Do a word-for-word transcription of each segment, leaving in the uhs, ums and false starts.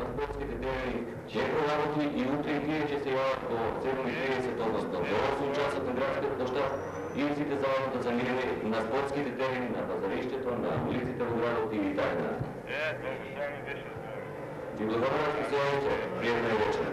на спортските терени ќе проработи и утре и тие ќе се јават по седум и триесет, односно до осум часот на градскиот площад и сите заедно да заминеме на спортските терени, на пазариштето, на улиците во градот и така. Е, толку само беше. Ви благодарам што се јавите. Пријатна вечер.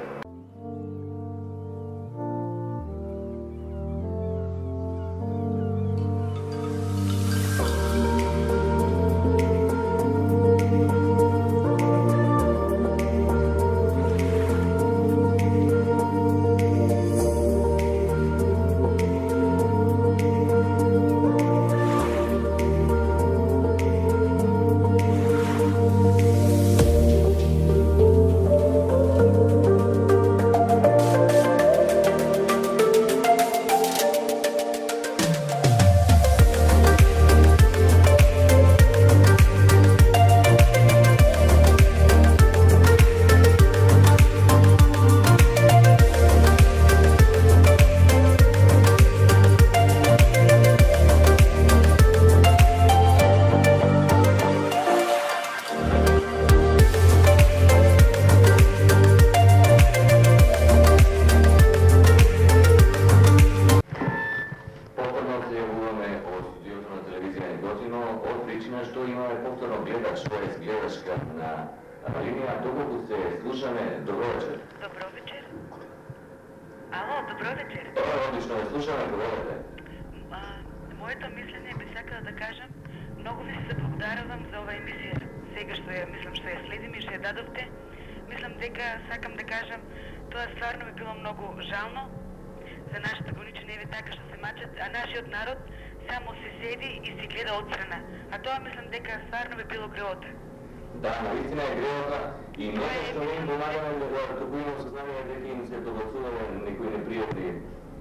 Да, наистина е греота и нека што не им помагаме да добијаме сознание дека им се добацуваме некои непријатни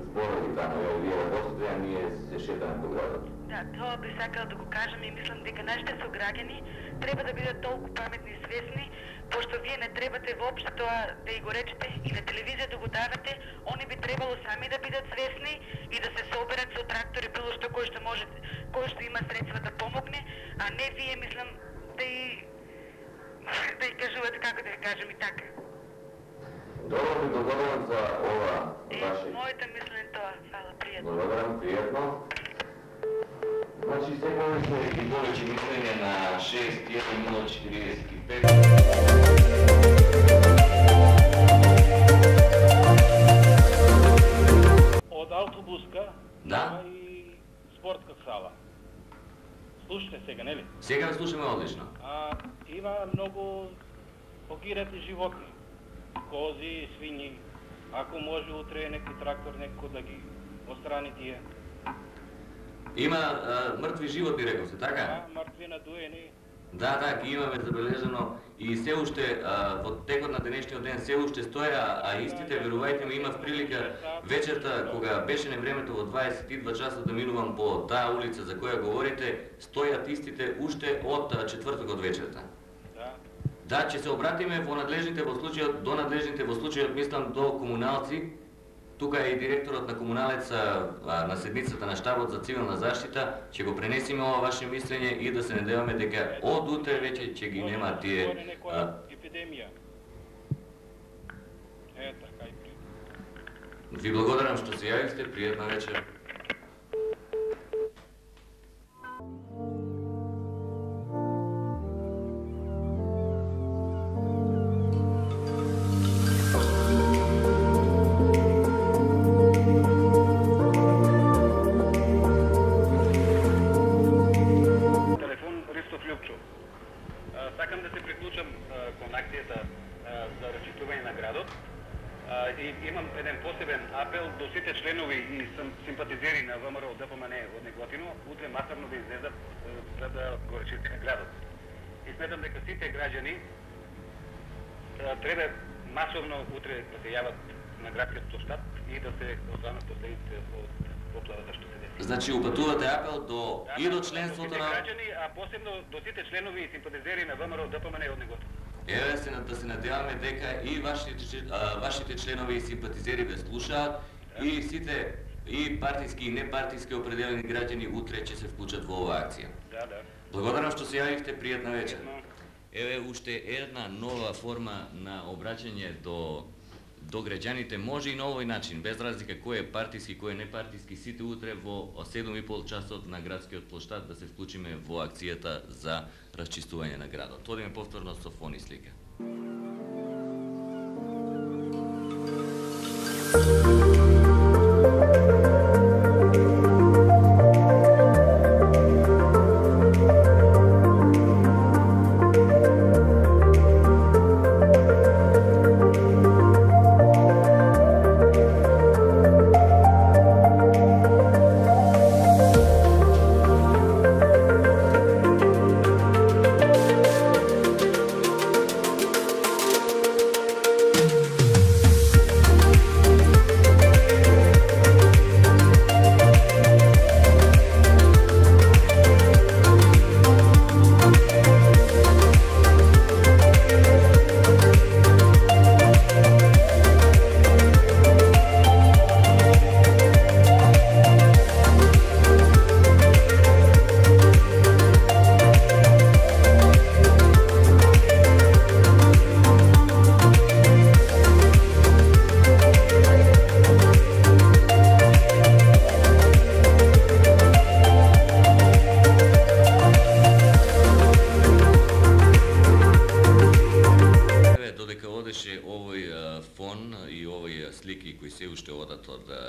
зборови таму, ја вие работите, а ние се шетаме по градот. Да, тоа би сакала да го кажам и мислам дека нашите сограѓани треба да бидат толку паметни и свесни, пошто вие не требате воопшто тоа да и го речете и на телевизија да го давате, они би требало сами да бидат свесни и да се соберат со трактори, било што кој што може, кој што има средства да помогне, а не вие мислам да и да и кажувате како да ја кажем и така. Добро, ви благодарам за ова ваше... Е, мојата мислен тоа, фала, пријатно. Благодарам, пријатно. Значи, се повеќе и повеќе мислење на шест еден нула четириесет и пет. Од автобуска да и спортска сала. Слушате сега, нели? Сега ве слушаме одлично. А, има многу погинати животни. Кози, свињи. Ако може утре некој трактор некој да ги острани тие. Има а, мртви животни, рековте, така? Да, мртви надуени. Да, да, ги имаме забележано и се уште а, во текот на денешниот ден се уште стоја, а истите, верувајте ми, имав прилика вечерта кога беше невремето во дваесет и два часа да минувам по таа улица за која говорите, стојат истите уште од четвртокот вечерта. Да. Да, ќе се обратиме во надлежните во случајот, до надлежните во случајот, мислам, до комуналци. Тука е и директорот на комуналеца на седницата на штабот за цивилна заштита, ќе го пренесиме ова ваше мислење и да се надеваме дека од утре веќе ќе ги нема тие епидемија. Е, така и при. Ви благодарам што се јавивте, пријатна вечер. Треба масовно утре да се јават на градскиот площад и да се останат последиците од поплавата што се деси. Значи упатувате апел до да, и до членството на граѓани, а посебно до сите членови и симпатизери на ВМРО ДПМН од неготино. Еве се да се надеваме дека и вашите а, вашите членови и симпатизери ве слушаат да. И сите и партиски и непартиски определени граѓани утре ќе се вклучат во оваа акција. Да, да. Благодарам што се јавивте, пријатна вечер. еве уште една нова форма на обраќање до до граѓаните, може и на овој начин, без разлика кој е партиски, кој е непартиски, сите утре во седум и пол часот на градскиот плоштад да се вклучиме во акцијата за расчистување на градот. Одиме повторно со фон и слика.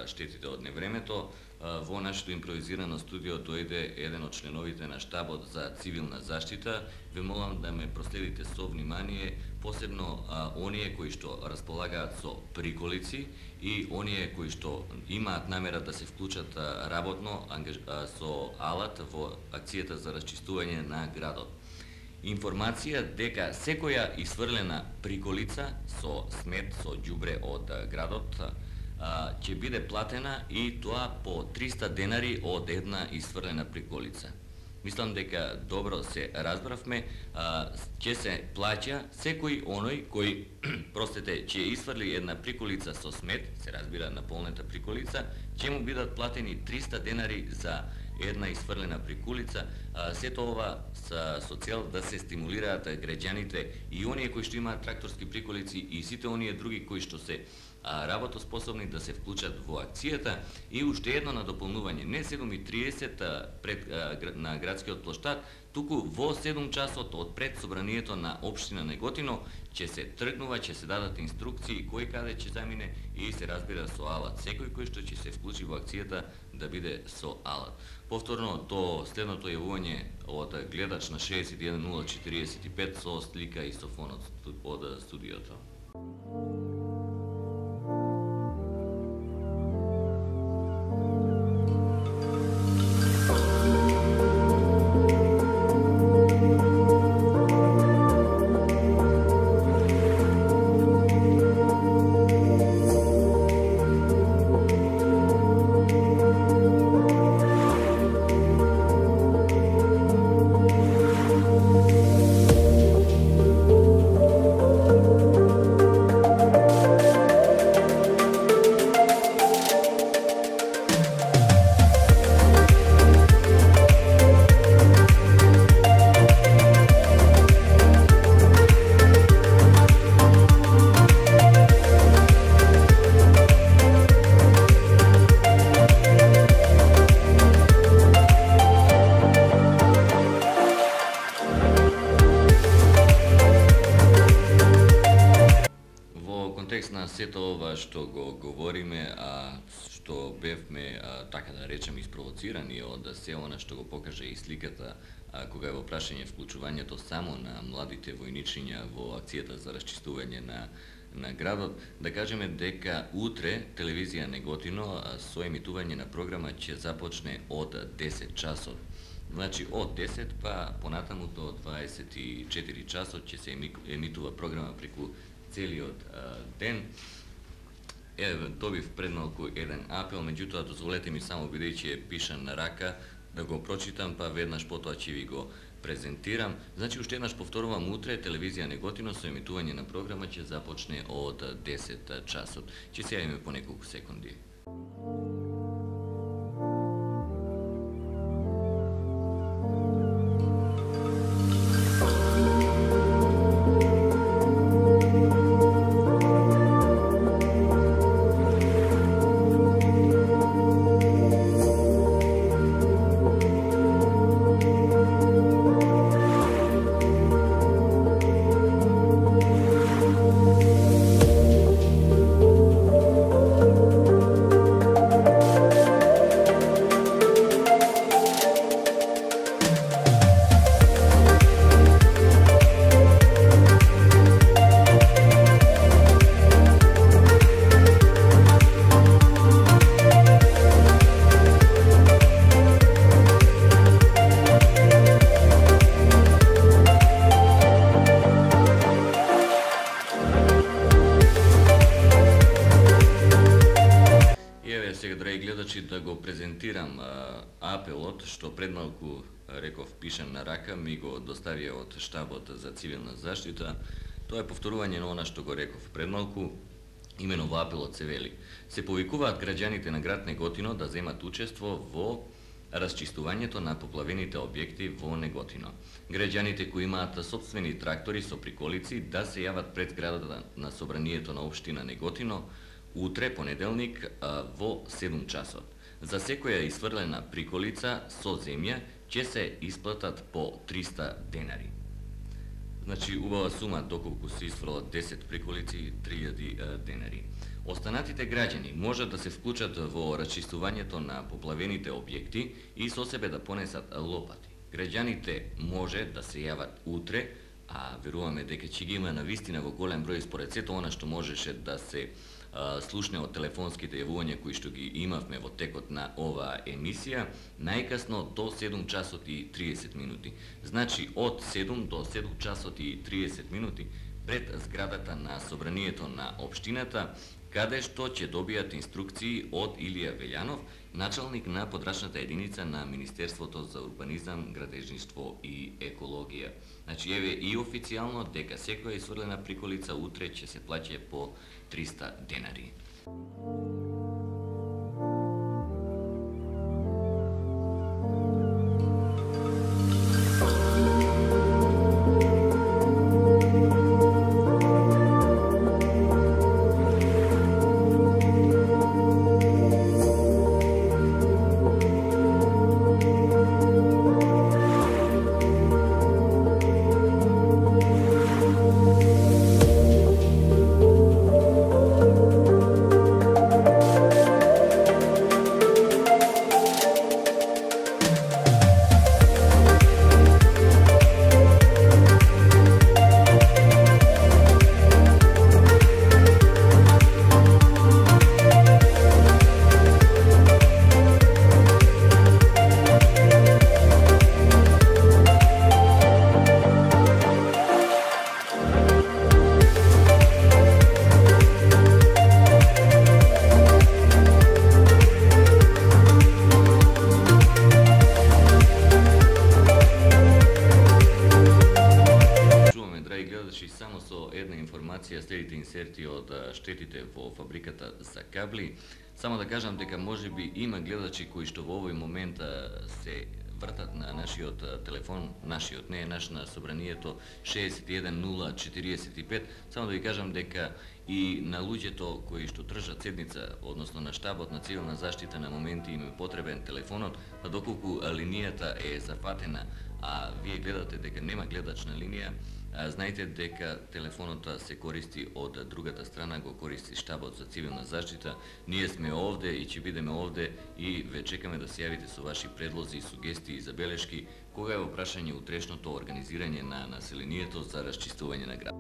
Штетите од невремето, во нашето импровизирано студио дојде еден од членовите на штабот за цивилна заштита. Ве молам да ме проследите со внимание, посебно а, оние кои што располагаат со приколици и оние кои што имаат намера да се вклучат а, работно ангаж... а, со алат во акцијата за расчистување на градот. Информација дека секоја исфрлена приколица со смет, со ѓубре од а, градот ќе биде платена и тоа по триста денари од една исфрлена приколица. Мислам дека добро се разбравме, ќе се плаќа секој оној кој простете ќе исфрли една приколица со смет, се разбира наполнета приколица, ќе му бидат платени триста денари за една исфрлена приколица. Сето ова со, со цел да се стимулираат граѓаните и оние кои што имаат тракторски приколици и сите оние други кои што се работоспособни да се вклучат во акцијата. И уште едно надополнување, не седум и триесет пред на градскиот плоштад, туку во седум часот од пред собранието на општина Неготино ќе се тргнува, ќе се дадат инструкции кој каде ќе замине и се разбира со алат. Секој кој што ќе се вклучи во акцијата да биде со алат. Повторно до следното јавување од гледач на шеесет и еден нула четириесет и пет со слика и со фонот од студиото. Сето ова што го говориме, а што бевме, а, така да речем, испровоцирани од се она што го покаже и сликата, а, кога е во прашање вклучувањето само на младите војничиња во акцијата за расчистување на, на градот, да кажеме дека утре телевизија Неготино а, со емитување на програма ќе започне од десет часот. Значи од десет па понатаму до дваесет и четири часот ќе се емитува програма преку целиот а, ден. Еве, добив пред малку еден апел, меѓутоа дозволете ми само, бидејќи е пишан на рака, да го прочитам, па веднаш потоа ќе ви го презентирам. Значи, уште еднаш повторувам, утре телевизија Неготино со емитување на програма ќе започне од десет часот. Ќе се јавиме по неколку секунди. значи да го презентирам а, апелот што пред малку реков пишан на рака, ми го доставија од штабот за цивилна заштита. Тоа е повторување на она што го реков пред малку. Имено во апелот се вели: се повикуваат граѓаните на град Неготино да земат учество во расчистувањето на поплавените објекти во Неготино. Граѓаните кои имаат сопствени трактори со приколици да се јават пред зградата на собранието на општина Неготино утре, понеделник, во седум часот. За секоја изфрлена приколица со земја ќе се исплатат по триста денари. Значи, убава сума, доколку се изфрлат десет приколици, три илјади денари. Останатите граѓани можат да се вклучат во расчистувањето на поплавените објекти и со себе да понесат лопати. Граѓаните може да се јават утре, а веруваме дека ќе ги има навистина во голем број според сето она што можеше да се а, слушне од телефонските јавувања кои што ги имавме во текот на оваа емисија, најкасно до седум часот и триесет минути. Значи, од седум до седум часот и триесет минути пред зградата на собранието на општината, каде што ќе добијат инструкции од Илија Велјанов, началник на подрачната единица на Министерството за урбанизам, градежништво и екологија. Значи, еве и официјално дека секоја изфрлена приколица утре ќе се плаќа по триста денари. Само со една информација, следите инсерти од штетите во фабриката за кабли. Само да кажам дека можеби има гледачи кои што во овој момент се вртат на нашиот телефон, нашиот, не е наш, на собранието шеесет и еден нула четириесет и пет. Само да ви кажам дека и на луѓето кои што тржат седница, односно на штабот на цивилна заштита, на моменти им е потребен телефонот, па доколку линијата е зафатена, а вие гледате дека нема гледач на линија, знаете дека телефонот се користи од другата страна, го користи штабот за цивилна заштита. Ние сме овде и ќе бидеме овде и ве чекаме да се јавите со ваши предлози, сугестии и забелешки кога е во прашање утрешното организирање на населението за расчистување на град.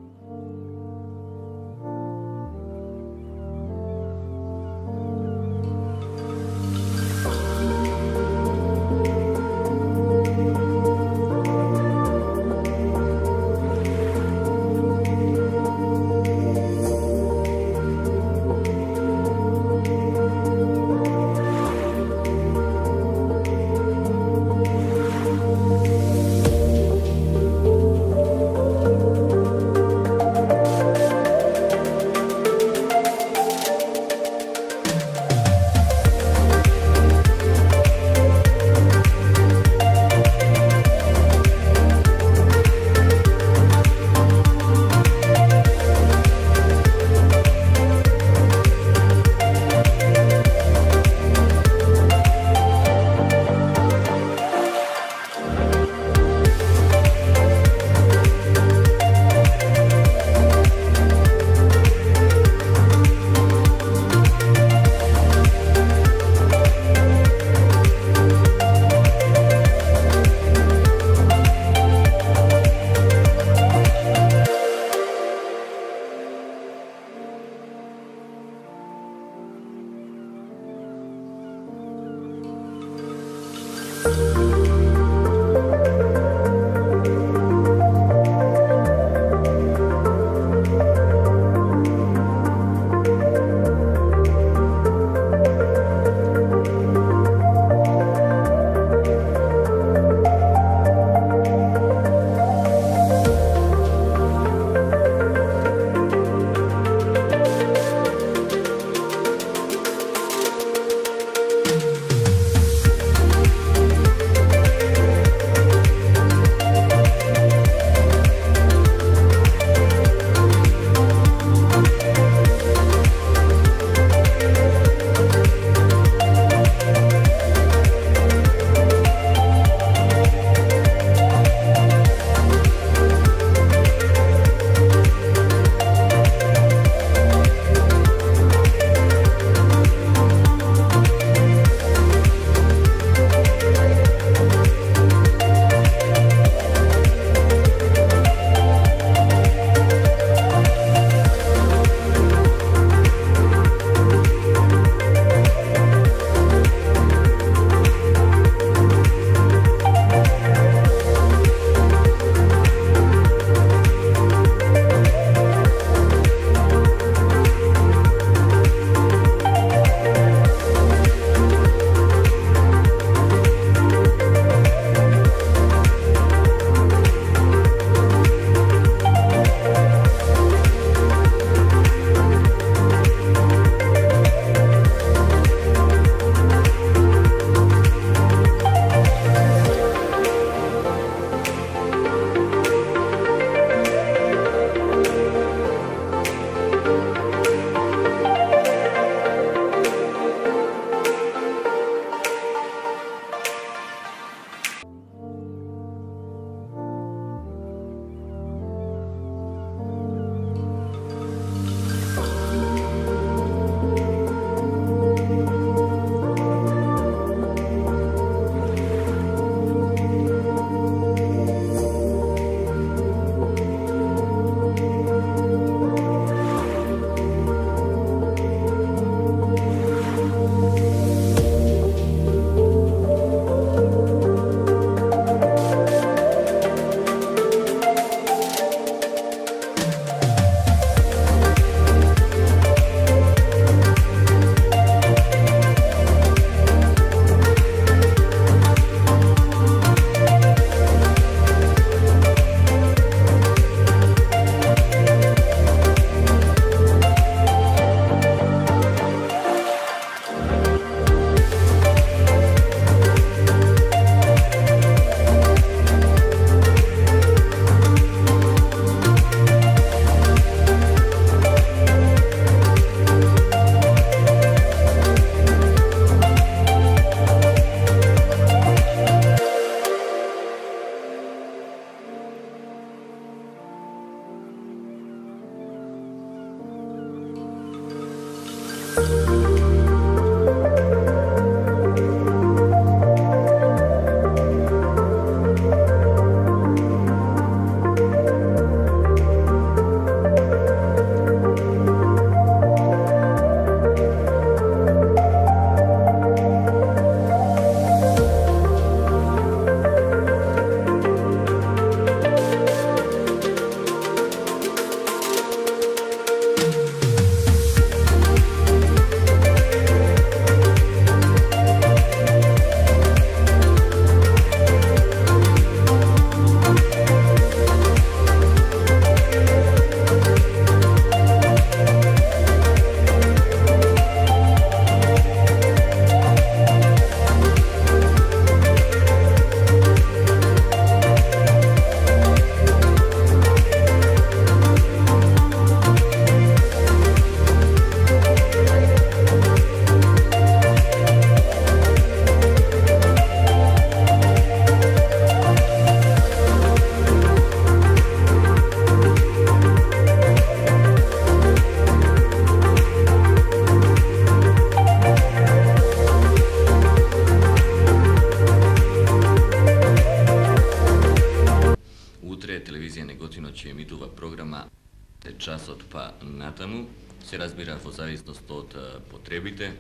натаму, се разбира во зависност од потребите.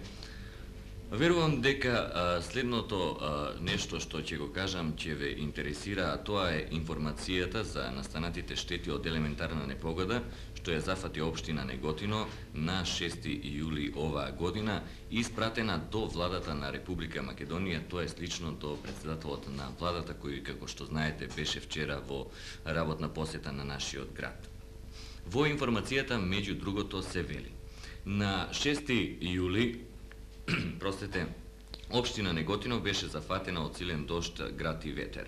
Верувам дека а, следното а, нешто што ќе го кажам ќе ве интересира, а тоа е информацијата за настанатите штети од елементарна непогода, што ја зафати општина Неготино на шести јули оваа година, испратена до владата на Република Македонија, тоа е слично до председателот на владата, кој, како што знаете, беше вчера во работна посета на нашиот град. Во информацијата, меѓу другото, се вели: на шести јули Простете, општина Неготино беше зафатена од силен дожд, град и ветер.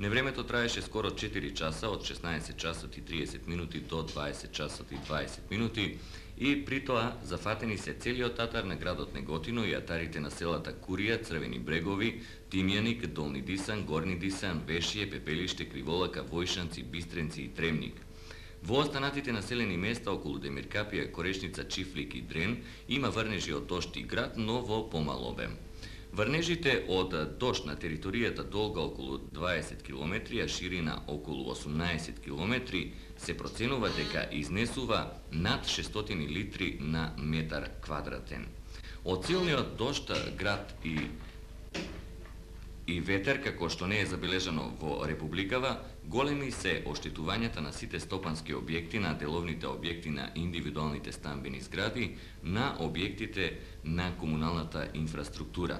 Невремето траеше скоро четири часа, од шеснаесет часот и триесет минути до дваесет часот и дваесет минути, и при тоа зафатени се целиот атар на градот Неготино и атарите на селата Курија, Црвени брегови, Тимјаник, Долни Дисан, Горни Дисан, Вешие, Пепелиште, Криволака, Војшанци, Бистренци и Тремник. Во останатите населени места околу Демиркапија, Корешница, Чифлик и Дрен има врнежи од дожд и град, но во помал обем. Врнежите од дожд на територијата долга околу дваесет километри, а ширина околу осумнаесет километри, се проценува дека изнесува над шестстотини литри на метар квадратен. Од силниот дожд, град и и ветер, како што не е забележано во Републикава, големи се оштетувањата на сите стопански објекти, на деловните објекти на индивидуалните стамбени згради, на објектите на комуналната инфраструктура.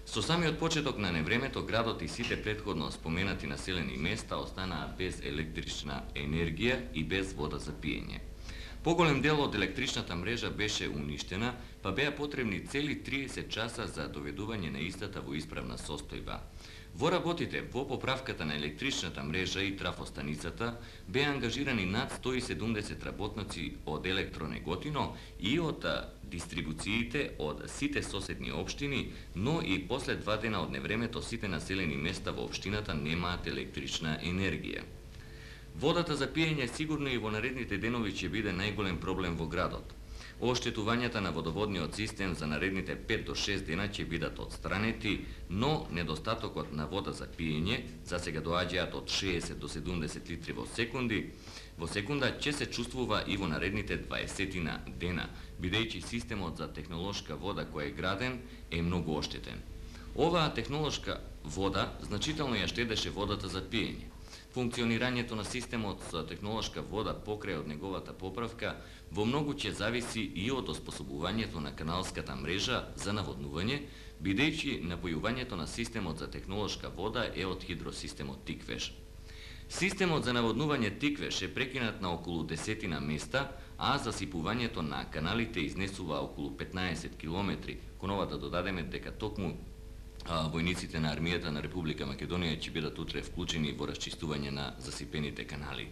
Со самиот почеток на невремето, градот и сите претходно споменати населени места останаа без електрична енергија и без вода за пиење. Поголем дел од електричната мрежа беше уништена, па беа потребни цели триесет часа за доведување на истата во исправна состојба. Во работите во поправката на електричната мрежа и трафостаницата беа ангажирани над сто и седумдесет работници од Електронеготино и од дистрибуциите од сите соседни општини, но и после два дена од невремето сите населени места во општината немаат електрична енергија. Водата за пиење сигурно и во наредните денови ќе биде најголем проблем во градот. Оштетувањата на водоводниот систем за наредните пет до шест дена ќе бидат отстранети, но недостатокот на вода за пиење, за сега доаѓаат од шеесет до седумдесет литри во секунди, во секунда ќе се чувствува и во наредните дваесетина дена, бидејќи системот за технолошка вода кој е граден е многу оштетен. Оваа технолошка вода значително ја штедеше водата за пиење. Функционирањето на системот за технолошка вода покрај од неговата поправка во многу ќе зависи и од оспособувањето на каналската мрежа за наводнување, бидејќи напојувањето на системот за технолошка вода е од хидросистемот Тиквеш. Системот за наводнување Тиквеш е прекинат на околу десетина места, а засипувањето на каналите изнесува околу петнаесет километри. Кон ова да додадеме дека токму А, војниците на армијата на Република Македонија ќе бидат утре вклучени во расчистување на засипените канали.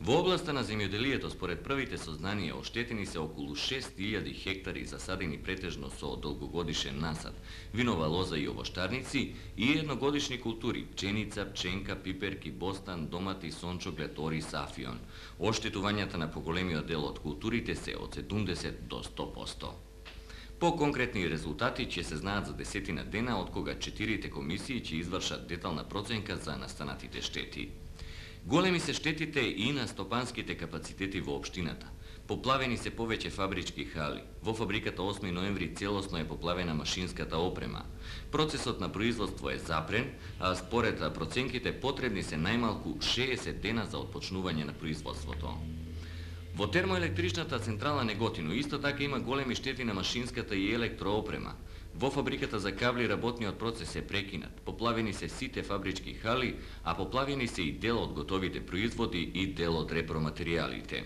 Во областа на земјоделието, според првите сознанија, оштетени се околу шест илјади хектари засадени претежно со долгогодишен насад, винова лоза и овоштарници и едногодишни култури, пченица, пченка, пиперки, бостан, домати, сончоглед, орис, афион. Оштетувањата на поголемиот дел од културите се од седумдесет до сто проценти. По конкретни резултати ќе се знаат за десетина дена, од кога четирите комисии ќе извршат детална проценка за настанатите штети. Големи се штетите и на стопанските капацитети во општината. Поплавени се повеќе фабрички хали. Во фабриката осми ноември целосно е поплавена машинската опрема. Процесот на производство е запрен, а според проценките потребни се најмалку шеесет дена за отпочнување на производството. Во термоелектричната централа Неготино исто така има големи штети на машинската и електроопрема. Во фабриката за кабли работниот процес е прекинат. Поплавени се сите фабрички хали, а поплавени се и дел од готовите производи и дел од репроматеријалите.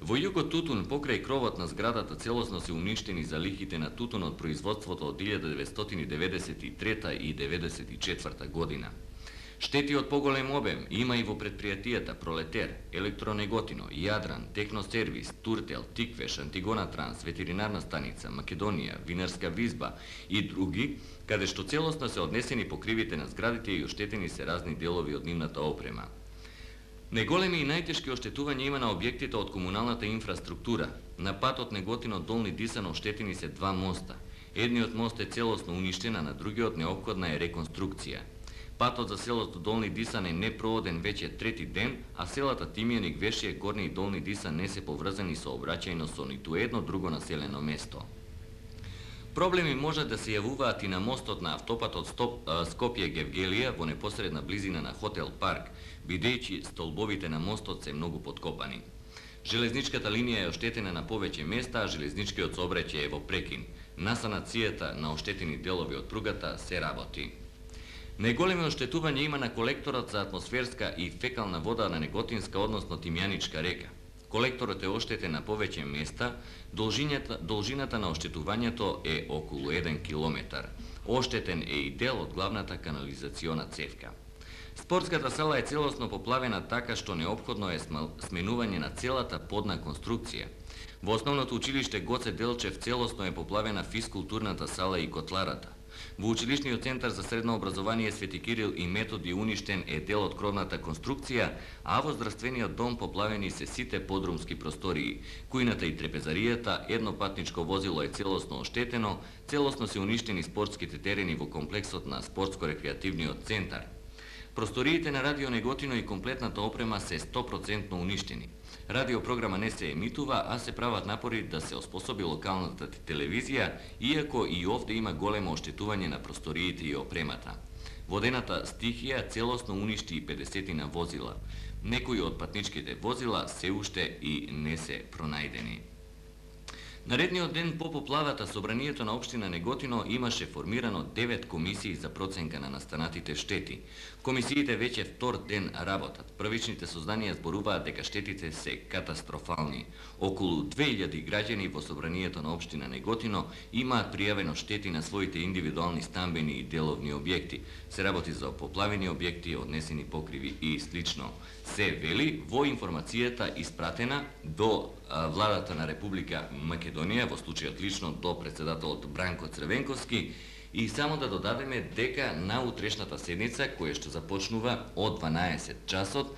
Во југот Тутун, покрај кровот на зградата, целосно се уништени залихите на тутун од производството од илјада деветстотини деветдесет и трета и деветдесет и четврта година. Штети од поголем обем има и во предпријатијата Пролетер, Електронеготино, Јадран, Техносервис, Туртел, Тиквеш, Антигона Транс, Ветеринарна станица, Македонија, Винарска визба и други, каде што целосно се однесени покривите на зградите и оштетени се разни делови од нивната опрема. Неголеми и најтешки оштетувања има на објектите од комуналната инфраструктура. На патот Неготино Долни Дисан оштетени се два моста. Едниот мост е целосно уништен, а на другиот неопходна е реконструкција. Патот за селото Долни Дисан е непроводен веќе трети ден, а селата Тимјаник, Вешие, Горни и Долни Дисан не се поврзани сообраќајно со ниту едно друго населено место. Проблеми можат да се јавуваат и на мостот на автопатот Скопје-Гевгелија во непосредна близина на Хотел Парк, бидејќи столбовите на мостот се многу подкопани. Железничката линија е оштетена на повеќе места, а железничкиот сообраќај е во прекин. На санацијата на оштетени делови од пругата се работи. Најголеми оштетување има на колекторот за атмосферска и фекална вода на Неготинска, односно Тимјаничка река. Колекторот е оштетен на повеќе места, должината, должината на оштетувањето е околу еден километар. Оштетен е и дел од главната канализациона цевка. Спортската сала е целосно поплавена така што неопходно е сменување на целата подна конструкција. Во основното училиште Гоце Делчев целосно е поплавена физкултурната сала и котларата. Во училишниот центар за средно образование Свети Кирил и Методи уништен е дел од кровната конструкција, а во здравствениот дом поплавени се сите подрумски простории. Кујната и трепезаријата, едно патничко возило е целосно оштетено, целосно се уништени спортските терени во комплексот на спортско-рекреативниот центар. Просториите на Радио Неготино и комплетната опрема се сто процентно уништени. Радиопрограма не се емитува, а се прават напори да се оспособи локалната телевизија, иако и овде има големо оштетување на просториите и опремата. Водената стихија целосно уништи и педесетина возила. Некои од патничките возила се уште и не се пронајдени. Наредниот ден по поплавата собранието на општина Неготино имаше формирано девет комисии за проценка на настанатите штети. Комисиите веќе втор ден работат. Првичните сознанија зборуваат дека штетите се катастрофални. Околу две илјади граѓани во собранието на општина Неготино имаат пријавено штети на своите индивидуални стамбени и деловни објекти. Се работи за поплавени објекти, однесени покриви и слично. Се вели во информацијата испратена до владата на Република Македонија, во случајот лично до председателот Бранко Црвенковски, и само да додадеме дека на утрешната седница, која што започнува од дванаесет часот,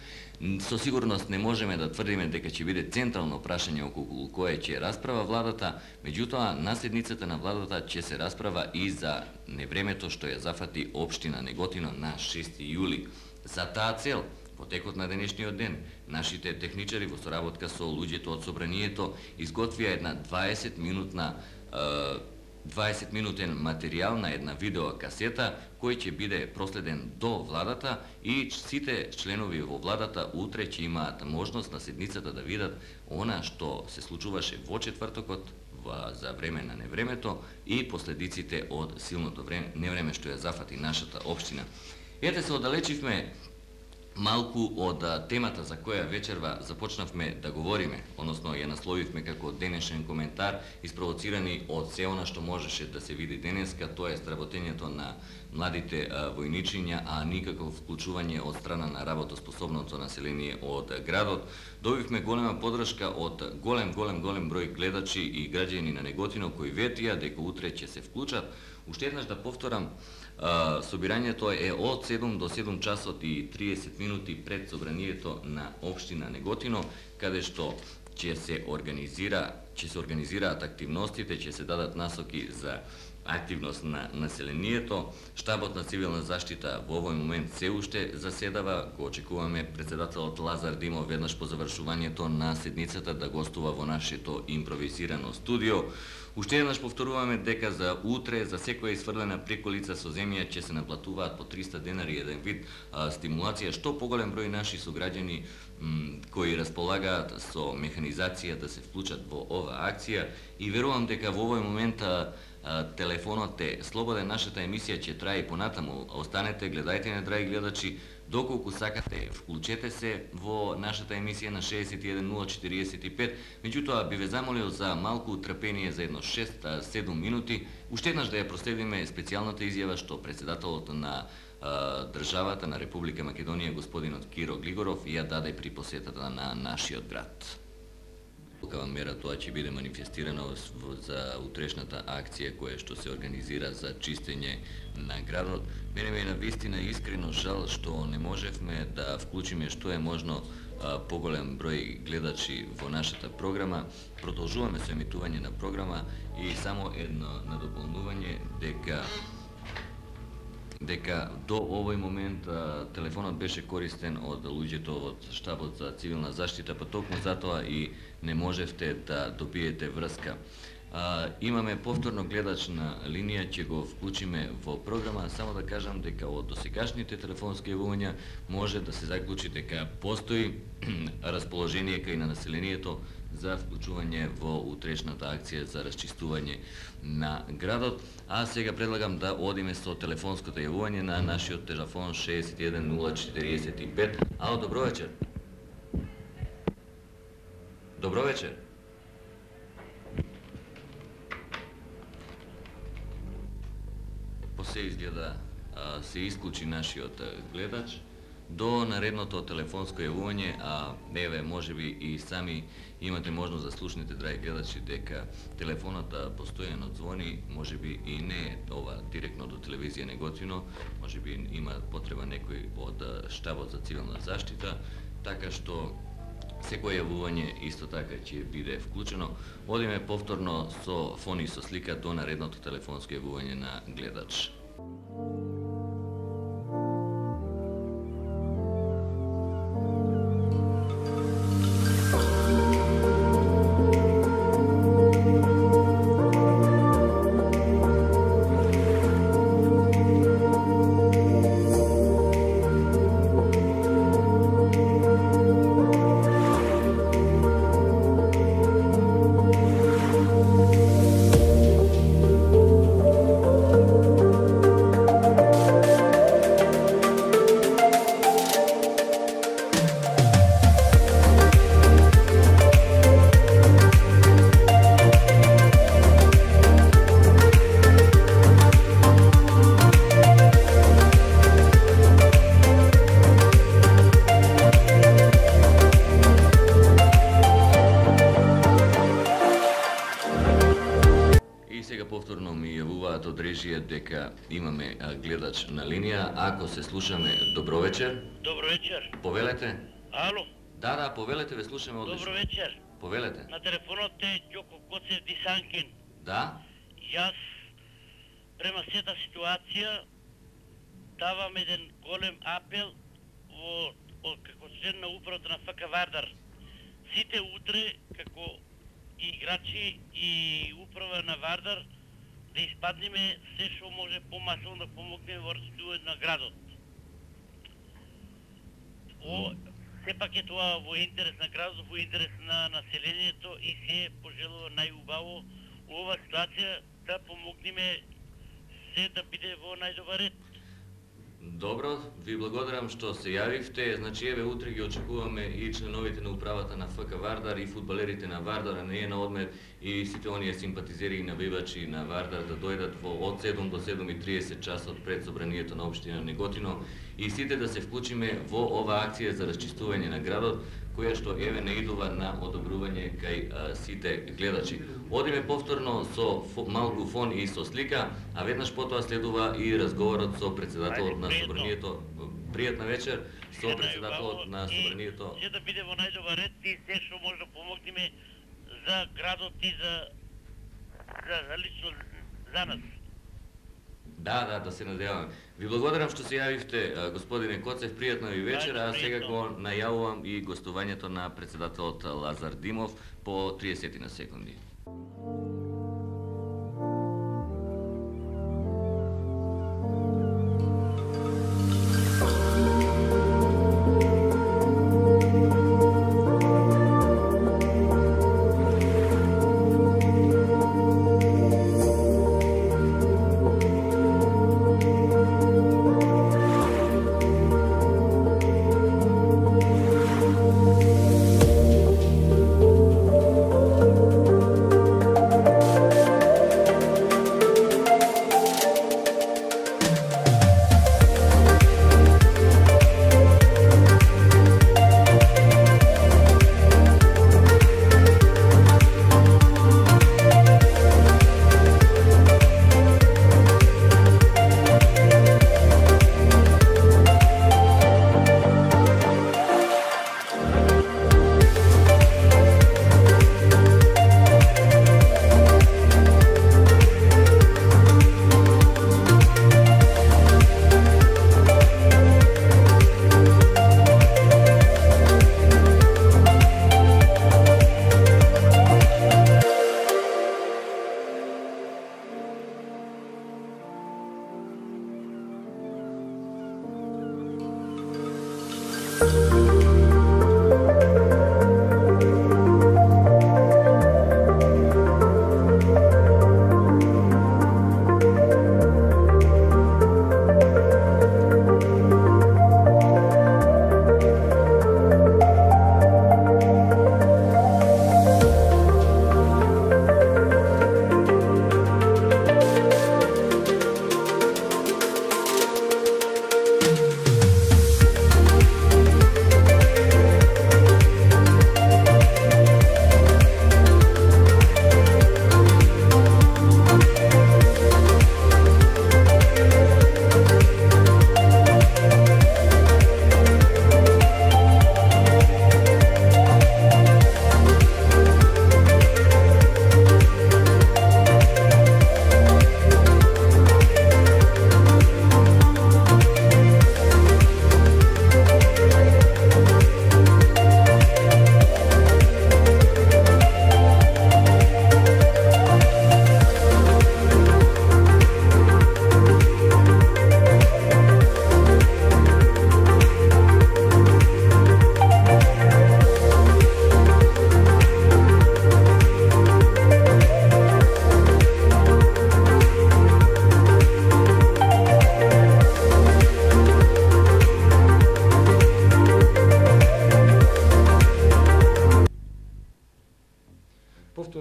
со сигурност не можеме да тврдиме дека ќе биде централно прашање околу кое ќе расправа владата, меѓутоа на седницата на владата ќе се расправа и за невремето што ја зафати општина Неготино на шести јули. За таа цел, во текот на денешниот ден, нашите техничари во соработка со луѓето од собранието изготвија една дваесет минутна дваесет минутен материјал на една видеокасета кој ќе биде проследен до владата и сите членови во владата утре ќе имаат можност на седницата да видат она што се случуваше во четвртокот за време на невремето и последиците од силното време, невреме што ја зафати нашата општина. Ете се оддалечивме малку од темата за која вечерва започнавме да говориме, односно ја насловивме како денешен коментар, испровоцирани од се она што можеше да се види денеска, тоа е сработењето на младите војничиња, а никакво вклучување од страна на работоспособното население од градот. Добивме голема подршка од голем, голем, голем број гледачи и граѓани на Неготино кои ветија дека утре ќе се вклучат. Уште еднаш да повторам, собирањето е од седум до седум часот и триесет минути пред собранието на општина Неготино, каде што ќе се организира, ќе се организираат активностите, ќе се дадат насоки за активност на населението. Штабот на цивилна заштита во овој момент се уште заседава. Го очекуваме председателот Лазар Димов веднаш по завршувањето на седницата да гостува во нашето импровизирано студио. Уште еднаш повторуваме дека за утре за секоја изфрлена приколица со земја ќе се наплатуваат по триста денари, еден вид а, стимулација, што поголем број наши сограѓани кои располагаат со механизација да се вклучат во оваа акција и верувам дека во овој момент а, телефонот е слободен, нашата емисија ќе трае и понатаму. Останете, гледајте не, драги гледачи, доколку сакате, вклучете се во нашата емисија на шеесет и еден нула четириесет и пет, меѓутоа би ве замолил за малку трпение за едно шест-седум минути, уште еднаш да ја проследиме специјалната изјава што председателот на а, државата на Република Македонија, господинот Киро Глигоров, ја даде при посетата на нашиот град. Такава мера тоа ќе биде манифестирано за утрешната акција која што се организира за чистење на градот. Мене ме е навистина искрено жал што не можевме да вклучиме што е можно а, поголем број гледачи во нашата програма. Продолжуваме со емитување на програма и само едно надополнување дека дека до овој момент а, телефонот беше користен од луѓето од штабот за цивилна заштита, па токму затоа и не можевте да добиете врска. А, имаме повторно гледач на линија, ќе го вклучиме во програма. Само да кажам дека од досегашните телефонски јавувања може да се заклучи дека постои расположение кај на населението за вклучување во утрешната акција за расчистување на градот. А сега предлагам да одиме со телефонското јавување на нашиот телефон шест еден нула четириесет и пет. Ало, добро вечер. Добро вечер. Посе изгледа а, се исклучи нашиот гледач. До наредното телефонско јавување, а еве можеби и сами имате можност да слушнете, драги гледачи, дека телефонот постојано звони, можеби и не е ова директно до телевизија Неготино, можеби има потреба некој од штабот за цивилна заштита, така што секој јавување исто така ќе биде вклучено. Одиме повторно со фон и со слика до наредното телефонско јавување на гледач. Повторно ми јавуваат од режија дека имаме гледач на линија. Ако се слушаме, добро вечер. Добро вечер. Повелете. Ало. Да, да, повелете, ве слушаме одлично. Добро вечер. Повелете. На телефонот е Ѓоко Коцев Дисанкин. Да. Јас према сета ситуација давам еден голем апел во од како член на управата на ФК Вардар. Сите утре како играчи и управа на Вардар да испаднеме се што може помасово да помогнеме во расчистувањето на градот. О, сепак е тоа во интерес на градот, во интерес на населението и се пожелува најубаво ова ситуација да помогнеме се да биде во најдобар ред. Добро, ви благодарам што се јавивте. Значи, еве, утре ги очекуваме и членовите на управата на ФК Вардар и фудбалерите на Вардар, а не е на одмет, и сите оние симпатизери и навивачи на Вардар да дојдат во од седум до седум и триесет часот пред собранието на општина Неготино и сите да се вклучиме во ова акција за расчистување на градот, која што еве не идува на одобрување кај а, сите гледачи. Одиме повторно со фо, малку фон и со слика, а веднаш потоа следува и разговорот со председателот на собранието. Пријатна вечер со председателот на собранието. Се да биде во најдобар ред и се што може да помогнеме за градот и за, за, за лично за нас. Да, да, да се надеваме. Ви благодарам што се јавивте, господине Коцев, пријатна ви вечер, а сега го најавувам и гостувањето на председателот Лазар Димов по триесет на секунди.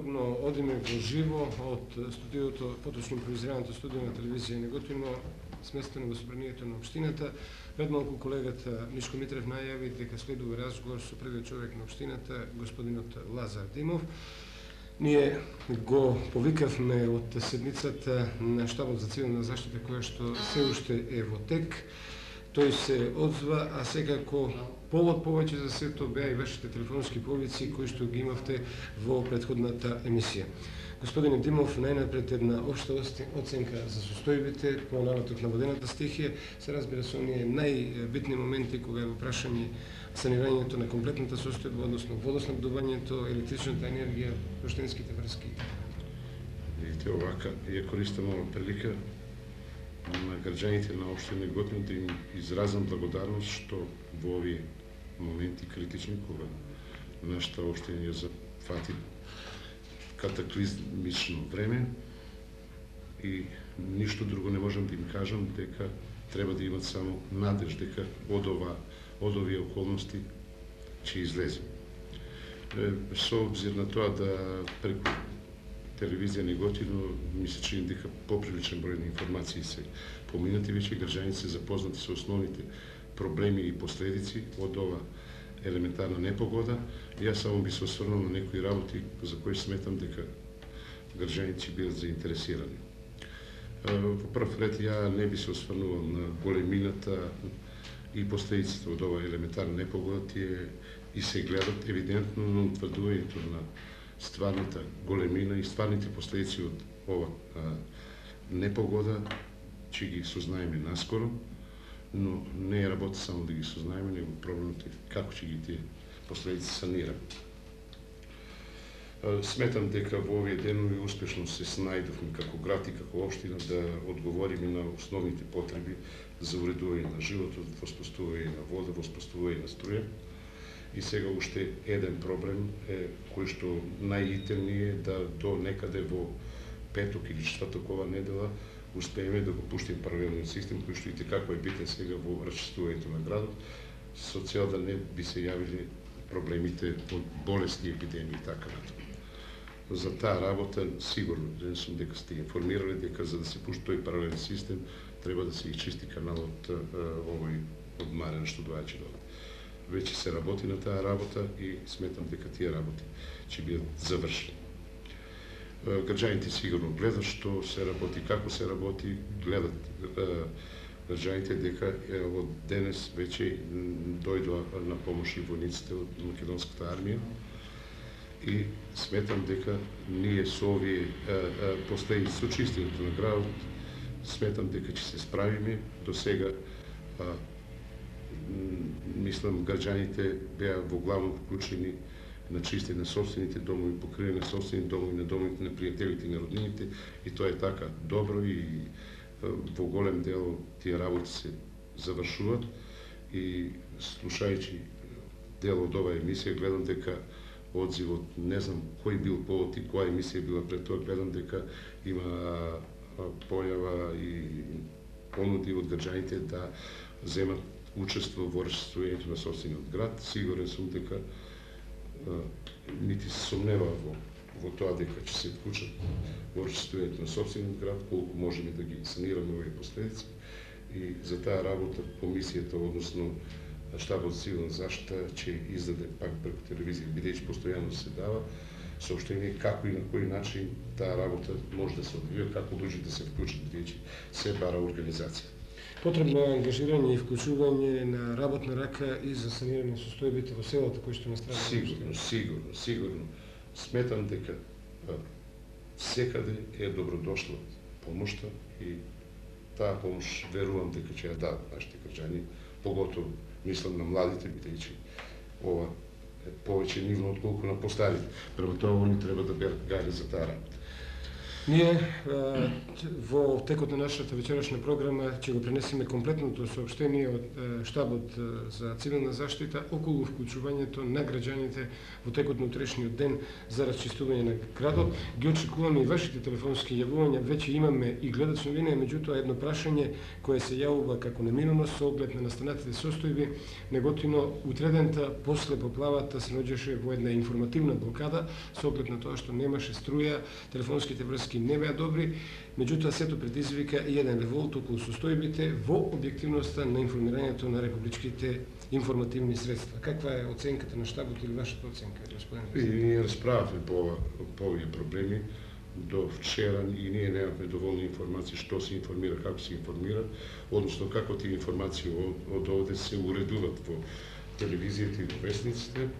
повторно одиме во живо од студиото, поточно импровизираната студија на телевизија Неготино, сместено во собранието на општината. Пред малку колегата Мишко Митрев најави дека следува разговор со првиот човек на општината, господинот Лазар Димов. Ние го повикавме од седницата на штабот за цивилна заштита, која што се уште е во тек. Тој се одзва, а секако повод повеќе за сето беа и вашите телефонски повици кои што ги имавте во претходната емисија. Господине Димов, најнапред една општа оценка за состојбите по наватот на водената стихија. Се разбира со оние најбитни моменти кога е во прашање санирањето на комплетната состојба, односно водоснабдувањето, електричната енергија, поштенските врски. Видите, овака, ја користам ова прилика на граѓаните на општина Неготино да им изразам благодарност што во овие моменти критични, кога нашата општина ја зафати катаклизмично време и ништо друго не можам да им кажам, дека треба да имат само надеж дека од ова од овие околности ќе излезе. Со обзир на тоа да преку телевизија Неготино ми се чини дека поприличен број на информации се поминати, веќе граѓаните се запознати со основните проблеми и последици од ова елементарна непогода. Јас само би се осврнал на некои работи за кои сметам дека граѓаните ќе бидат заинтересирани. Во прв ред ја не би се осврнувал на големината и последиците од ова елементарна непогода, тие и се гледат евидентно, но утврдувањето на стварната големина и стварните последици од ова а, непогода ќе ги сознаеме наскоро, но не е работа само да ги сознаеме, него проблемот е како ќе ги тие последици санираме. Сметам дека во овие денови успешно се снајдовме како град и како општина да одговориме на основните потреби за уредување на животот, воспоставување на вода, воспоставување на струја. И сега уште еден проблем е кој што најитен е да до некаде во петок или четврток ова недела успееме да го пуштиме паралелниот систем кој што и како е битен сега во расчистувањето на градот, со цел да не би се јавили проблемите од болести, епидемии и така натаму. За таа работа сигурно не сум дека сте информирали дека за да се пушти тој паралелен систем треба да се изчисти каналот овој од Марен што доаѓа до. Веќе се работи на таа работа и сметам дека тие работи ќе бидат завршени. Граѓаните сигурно гледат што се работи, како се работи, гледат граѓаните дека од денес веќе дојдоа на помош и војниците од македонската армија и сметам дека ние со овие последици со чистењето на градот сметам дека ќе се справиме. До сега мислам граѓаните беа во главно вклучени на чистење на собствените домови, покривање на собствени домови, на домовите на пријателите и на роднините, и тоа е така добро и во голем дел тие работи се завршуваат. И слушајќи дел од оваа емисија гледам дека одзивот, не знам кој бил повод и која емисија била пред тоа, гледам дека има појава и понуди од граѓаните да земат учество во расчистувањето на собствениот град. Сигурен сум дека нити се сомнева во, во тоа дека ќе се вклучат во расчистувањето на собствениот град, колку можеме да ги санираме овие последици. И за таа работа комисијата, односно штабот за цивилна заштита, ќе издаде пак преку телевизија, бидејќи постојано се дава соопштение како и на кој начин таа работа може да се одвива, како луѓе да се вклучат, бидејќи се бара организација. Потребно е ангажирање и вклучување на работна рака и за санирање состојбите во селото кои што настрадаа. Сигурно, сигурно, сигурно. Сметам дека секаде е добродошла помошта и таа помош верувам дека ќе ја дадат нашите граѓани, поготово мислам на младите, бидејќи ова е повеќе нивно отколку на постарите. Према тоа они треба да берат гајле за таа работа. Ние во текот на нашата вечерашна програма ќе го пренесеме комплетното соопштение од штабот за цивилна заштита околу вклучувањето на граѓаните во текот на утрешниот ден за расчистување на градот. Ги очекуваме и вашите телефонски јавувања, веќе имаме и гледачна линија, меѓутоа едно прашање кое се јавува како неминуно со оглед на настанатите состојби. Неготино утредента после поплавата се наоѓаше во една информативна блокада со оглед на тоа што немаше струја, телефонските врски не беа добри, меѓутоа сето предизвика и еден револт околу состојбите во објективноста на информирањето на републичките информативни средства. Каква е оценката на штабот или вашата оценка, господин президент? И ние расправавме по, по овие проблеми до вчера и ние немавме доволни информации што се информира, како се информира, односно како тие информации од, од овде се уредуваат во телевизијата и во вестниците,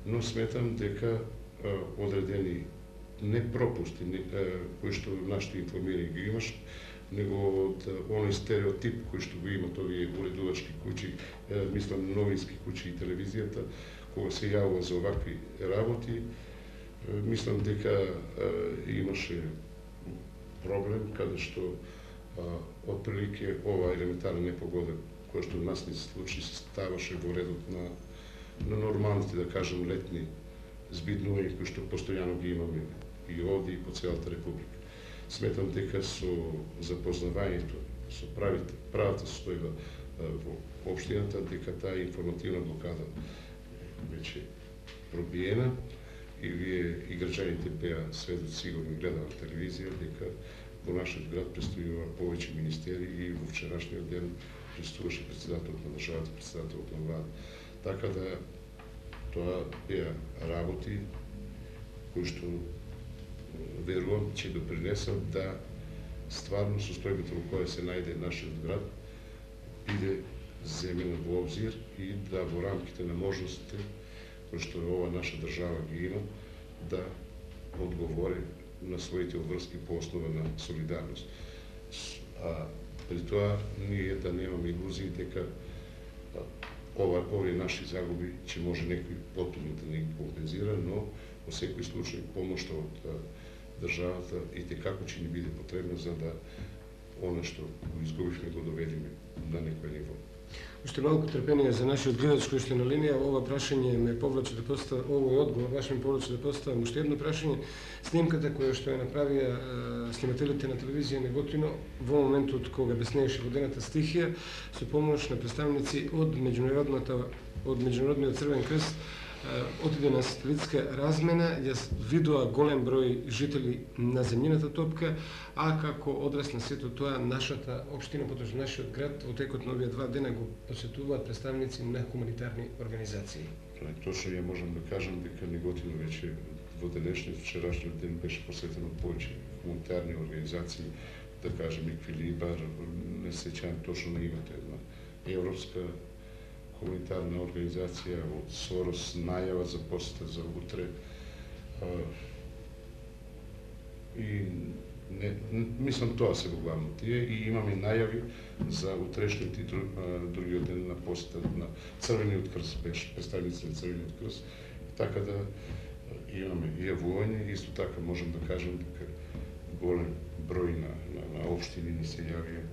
но сметам дека а, одредени не пропусти, не, а, кои што нашите информирања ги имаш, него од оној стереотип кој што го имат овие уредувачки куќи, а, мислам новински куќи и телевизијата, кога се јавува за овакви работи, а, мислам дека а, имаше проблем каде што отприлике ова елементарна непогода која што нас не се случи, се ставаше во редот на, на нормалните, да кажем, летни збиднувања кои што постојано ги имаме и овде и по целата република. Сметам дека со запознавањето со правите, правата состојба во општината, дека таа информативна блокада веќе пробиена и вие и граѓаните беа сведоци, сигурно гледаат телевизија, дека во нашиот град престојува повеќе министери и во вчерашниот ден присуствуваше председателот на државата, председателот на влада. Така да тоа беа работи кои што верувам ќе допринесат да стварно состојбата во која се најде нашиот град биде земена во обзир и да во рамките на можностите кои што ова наша држава ги има да одговори на своите обврски по основа на солидарност. А при тоа ние да немаме илузии дека ова, овие наши загуби ќе може некој потомно да не ги компензира, но во секој случај помошта од државата и текако ќе ни биде потребна за да она што го изгубивме го доведеме на некој ниво. Уште малку трпение за нашиот гледач кој што е на линија. Ова прашање ме повлече да поставам, овој одговор ваш ме повлече да поставам уште едно прашање. Снимката која што ја направија снимателите на телевизија Неготино во моментот кога беснееше водената стихија со помош на представници од меѓународната од меѓународниот Црвен крст отиде на сателитска размена, јас видоа голем број жители на земјината топка, а како одраз на сето тоа нашата општина, потоа нашиот град во текот на овие два дена го посетуваат представници на хуманитарни организации. Точно ја можам да кажам дека Неготино веќе во денешниот вчерашниот ден беше посетено повеќе хуманитарни организации, да кажем Еквилибар, не се сеќавам точно на името, една европска хуманитарна организација од Сорос најава за посета за утре. И не, мислам тоа се во главно тие и имаме најави за утрешниот и другиот ден на посета на Црвениот крст, беше представници на Црвениот крст, така да имаме и јавување, исто така можам да кажам дека голем број на, на, на општини ни се јавија,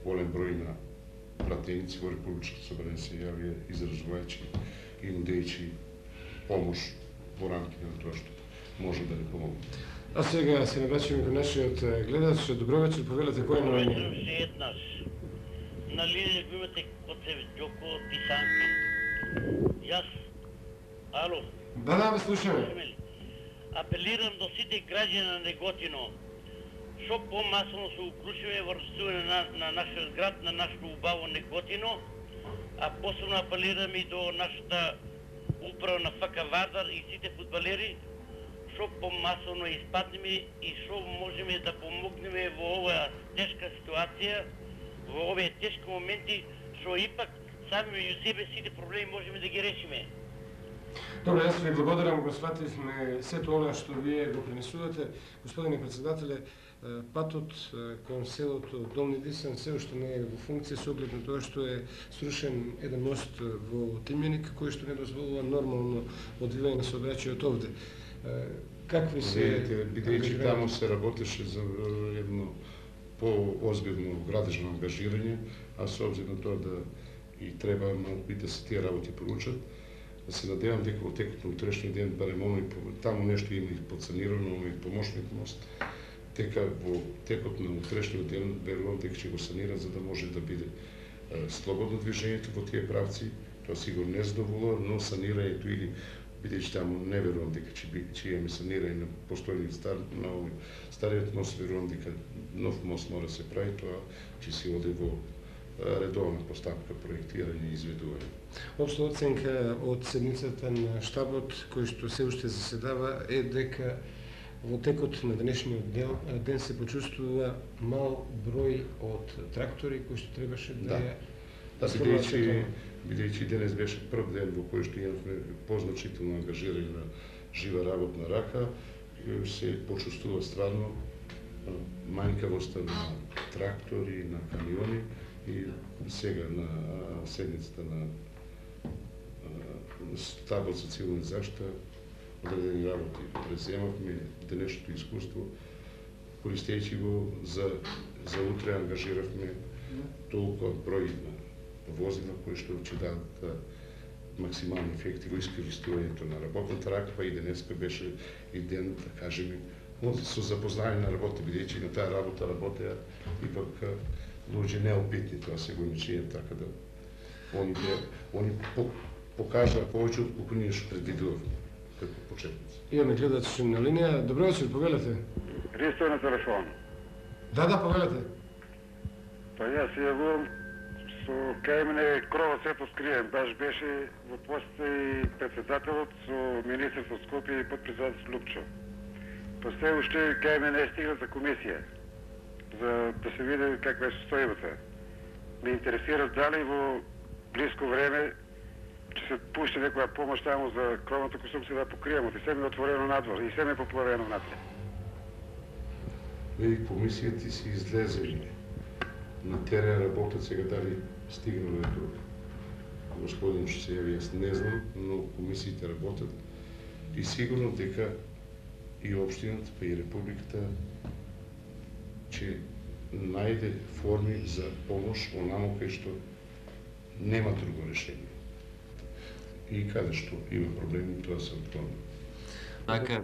голем број на пратеници во Републичкото собрание се јавија изразувајќи и нудејќи помош во рамките на тоа што може да ни помогне. А сега се наврачуваме кон нашиот гледач. Добро вечер, повелете кој е на линија? Добро вечер, еднаш. На линија го имате Коцев Ѓоко од Писанки. Јас, ало? Да, да, ве слушаме. Апелирам до сите граѓани на Неготино, што помасово се уклучиме во расчистување на, на нашиот град, на нашето убаво Неготино, а посебно апелирам и до нашата управа на ФК Вардар и сите фудбалери, што помасовно испаднеме и што можеме да помогнеме во оваа тешка ситуација, во овие тешки моменти, што ипак сами меѓу себе сите проблеми можеме да ги решиме. Добре, јас ви благодарам, го свативме сето она што вие го пренесувате. Господине председателе, патот кон селото Долни Дисан се уште не е во функција со оглед на тоа што е срушен еден мост во Тимјаник кој што не дозволува нормално одвивање на сообраќајот овде. Какви се... Бидејќи таму се работеше за едно по-озбилно градежно ангажирање, а со обзир на тоа да и треба малку да се тие работи поручат, да се надевам дека во текот на утрешниот ден барем оној таму нешто има и подсанирано, оној помошник мост, дека во текот на утрешниот ден верувам дека ќе го санират за да може да биде слободно движењето во тие правци. Тоа сигурно не задоволува, но санирањето или бидејќи таму не верувам дека ќе би ќе имаме санирање на постојниот стар на овој стариот мост, верувам дека нов мост мора да се прави, тоа ќе се оди во редовна постапка проектирање и изведување. Општа оценка од седницата на штабот кој што се уште заседава е дека во текот на денешниот ден, ден се почувствува мал број од трактори кои што требаше да ја Да, бидејќи бидејќи денес беше прв ден во кој што имавме позначително ангажирање на жива работна рака, се почувствува стварно манјкавоста на трактори, на камиони и сега на седницата на штабот за цивилна заштита одредени работи преземавме денешното искуство, користејќи го за за утре ангажиравме толку број на возила кои што ќе дадат максимални ефекти во искористувањето на работната рака, па и денеска беше и ден, да кажеме, со запознање на работа, бидејќи на таа работа работеа ипак луѓе неопитни, тоа се го имачиња, така да они они покажа повеќе од колку ние што предвидувавме како почетници. Имаме гледач на линија. Добро вечер, повелете. Ристо на телефон. Да, да, повелете. Па јас се јавувам со кај мене кровот се поскриен. Баш беше во посета и председателот со министрот од Скопје и подпредседател Лупчо. Па се уште кај мене е стигнат за комисија, за да се види каква е состојбата. Ме интересира дали во близко време ќе се пушти некоја помош таму за кровната конструкција да покриемо. И се ми е отворено надвор, и се ми е поплавено напред. Вели, комисијата си излезели на терен, работат сега дали стигнале до господин што се јави, јас не знам, но комисиите работат и сигурно дека и општината, па и републиката ќе најде форми за помош онамо кај што нема друго решение. И каде што има проблеми, тоа се отклони. Така,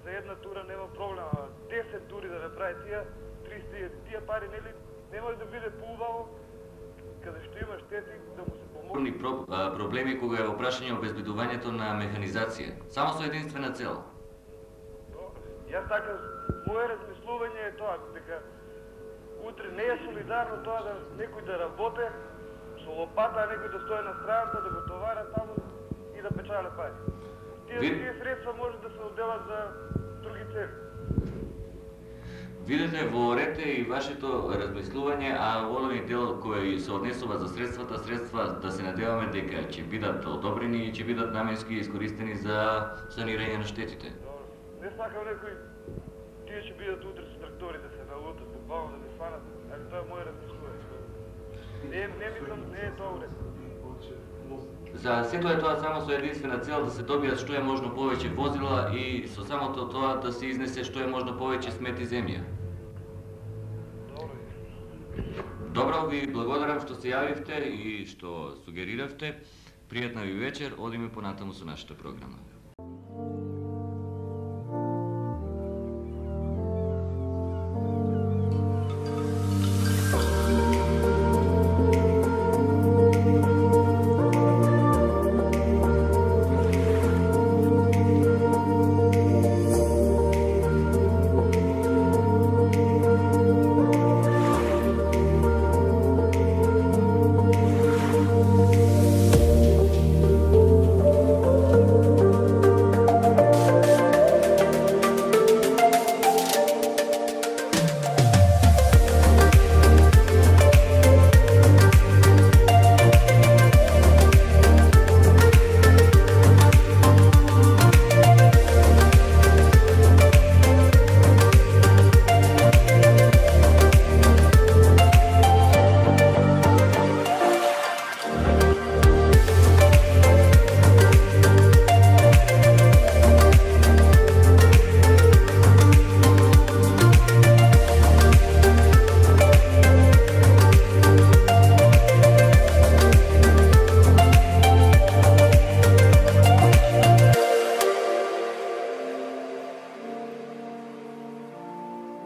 за една тура нема проблем, а десет тури да направи тие, триста тие пари нели не може да биде поубаво каде што има штети да му се помогне. Про, а, проблеми кога е во прашање обезбедувањето на механизација, само со единствена цел. Јас така, моје размислување е тоа, дека утре не е солидарно тоа да некој да работе со лопата, а некој да стои на страната, да го товара таму и да печале пари. Тие, Ви... тие средства може да се одделат за други цели. Видете во ред и вашето размислување, а во оној дел кој се однесува за средствата, средства да се надеваме дека ќе бидат одобрени и ќе бидат наменски искористени за санирање на штетите. Не сакам некој, тие ќе бидат утре со трактори да се налутат, буквално да не сванат, али тоа е моје размислување. Не, не мислам, не е тоа уред. За сето е тоа само со единствена цел да се добијат што е можно повеќе возила и со самото тоа да се изнесе што е можно повеќе смети земја. Добро, ви благодарам што се јавивте и што сугериравте. Пријатна ви вечер, одиме понатаму со нашата програма.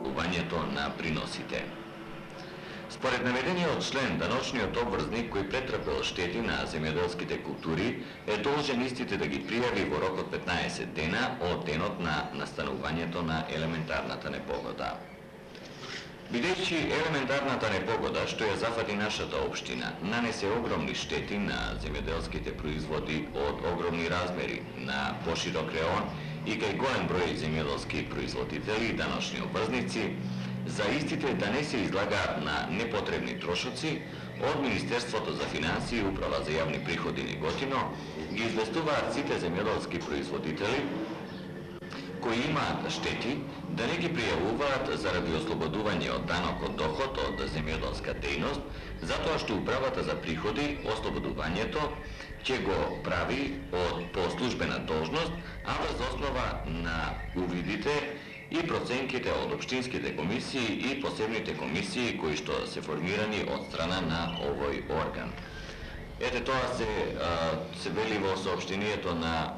увањето на приносите. Според наведениот член, даночниот обврзник кој претрпел штети на земјоделските култури е должен истите да ги пријави во рок од петнаесет дена од денот на настанувањето на елементарната непогода. Бидејќи елементарната непогода, што ја зафати нашата општина, нанесе огромни штети на земјоделските производи од огромни размери на поширок реон и кај голем број земјоделски производители и даночни обврзници, за истите да не се излагаат на непотребни трошоци, од Министерството за финансии и Управа за јавни приходи Неготино ги известуваат сите земјоделски производители кои имаат штети да не ги пријавуваат заради ослободување од данок од доход од земјоделска дејност, затоа што Управата за приходи ослободувањето ќе го прави од по службена должност, а врз основа на увидите и проценките од општинските комисии и посебните комисии кои што се формирани од страна на овој орган. Ете тоа се, а, се вели во соопштението на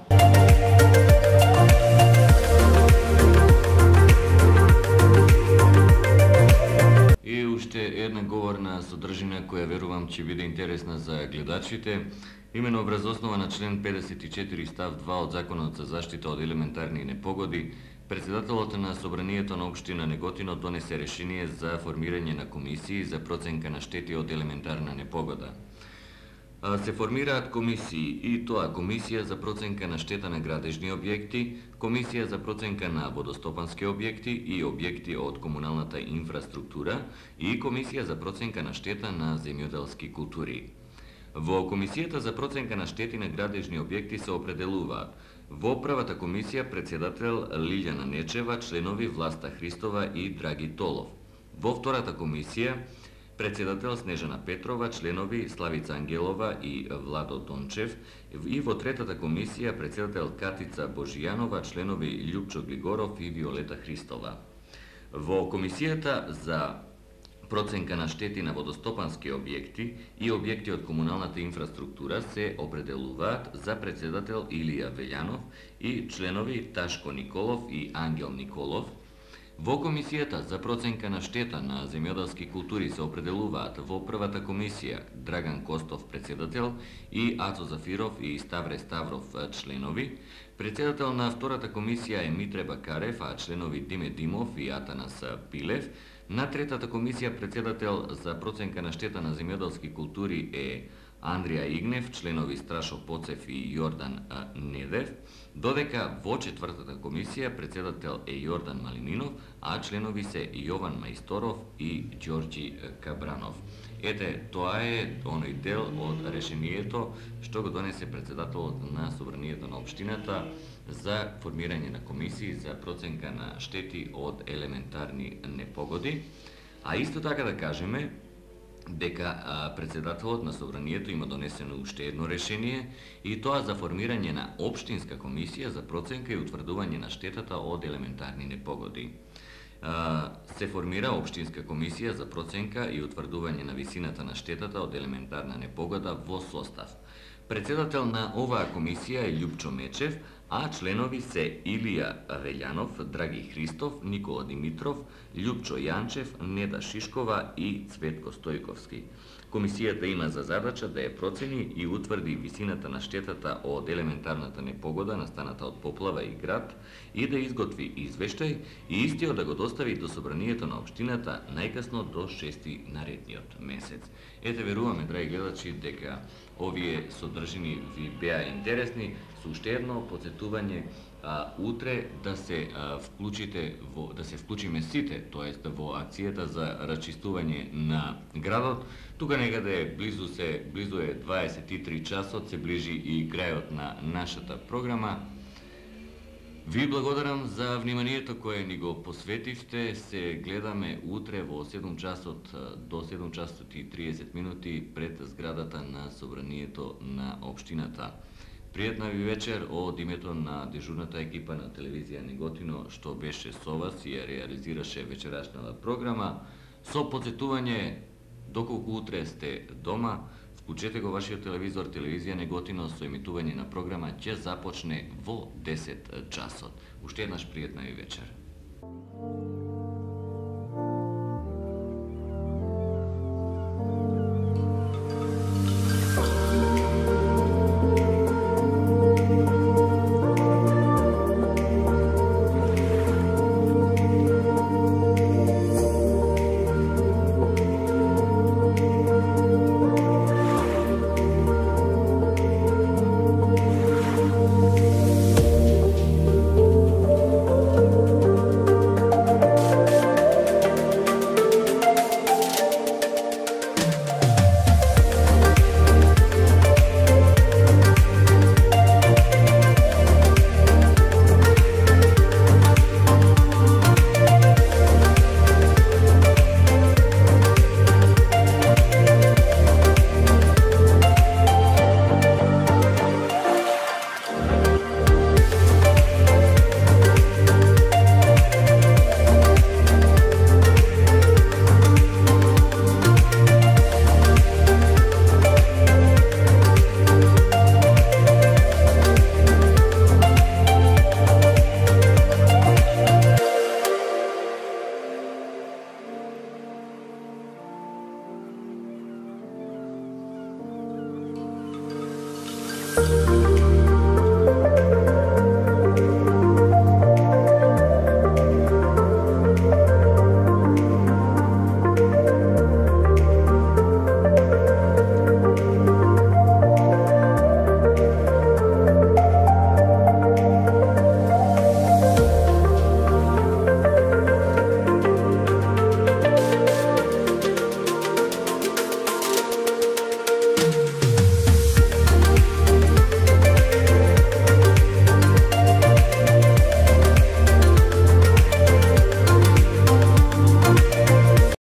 И уште една говорна содржина која верувам ќе биде интересна за гледачите. Имено врз основа на член педесет и четири став два од Законот за заштита од елементарни непогоди, председателот на Собранието на општина Неготино донесе решение за формирање на комисии за проценка на штети од елементарна непогода. Се формираат комисии и тоа комисија за проценка на штета на градежни објекти, комисија за проценка на водостопански објекти и објекти од комуналната инфраструктура и комисија за проценка на штета на земјоделски култури. Во комисијата за проценка на штети на градежни објекти се определуваат во првата комисија председател Лилјана Нечева, членови Власта Христова и Драги Толов. Во втората комисија председател Снежана Петрова, членови Славица Ангелова и Владо Дончев, и во третата комисија председател Катица Божијанова, членови Љупчо Глигоров и Виолета Христова. Во комисијата за проценка на штети на водостопански објекти и објекти од комуналната инфраструктура се определуваат за председател Илија Велјанов и членови Ташко Николов и Ангел Николов. Во комисијата за проценка на штета на земјоделски култури се определуваат во првата комисија Драган Костов председател и Ацо Зафиров и Ставре Ставров членови. Председател на втората комисија е Митре Бакарев, а членови Диме Димов и Атанас Пилев. На третата комисија председател за проценка на штета на земјоделски култури е Андрија Игнев, членови Страшо Поцев и Јордан Недев, додека во четвртата комисија председател е Јордан Малининов, а членови се Јован Мајсторов и Ѓорѓи Кабранов. Ете, тоа е оној дел од решението што го донесе председателот на Собранието на општината за формирање на комисии за проценка на штети од елементарни непогоди. А исто така да кажеме дека председателот на Собранието има донесено уште едно решение и тоа за формирање на општинска комисија за проценка и утврдување на штетата од елементарни непогоди. Се формира општинска комисија за проценка и утврдување на висината на штетата од елементарна непогода во состав. Председател на оваа комисија е Љупчо Мечев, а членови се Илија Велјанов, Драги Христов, Никола Димитров, Љупчо Јанчев, Неда Шишкова и Цветко Стојковски. Комисијата има за задача да ја процени и утврди висината на штетата од елементарната непогода настаната од поплава и град и да изготви извештај и истиот да го достави до Собранието на општината најкасно до шести наредниот месец. Ете, веруваме, драги гледачи, дека овие содржини ви беа интересни. Со уште едно подсетување, а, утре да се а, вклучите во, да се вклучиме сите, тоест во акцијата за расчистување на градот. Тука некаде близу се близу е дваесет и три часот, се ближи и крајот на нашата програма. Ви благодарам за вниманието кое ни го посветивте. Се гледаме утре во седум часот до седум часот и триесет минути пред зградата на Собранието на општината. Пријатна ви вечер од името на дежурната екипа на телевизија Неготино што беше со вас и ја реализираше вечерашната програма. Со подсетување, доколку утре сте дома, вклучете го вашиот телевизор, телевизија Неготино со емитување на програма ќе започне во десет часот. Уште еднаш пријатна ви вечер.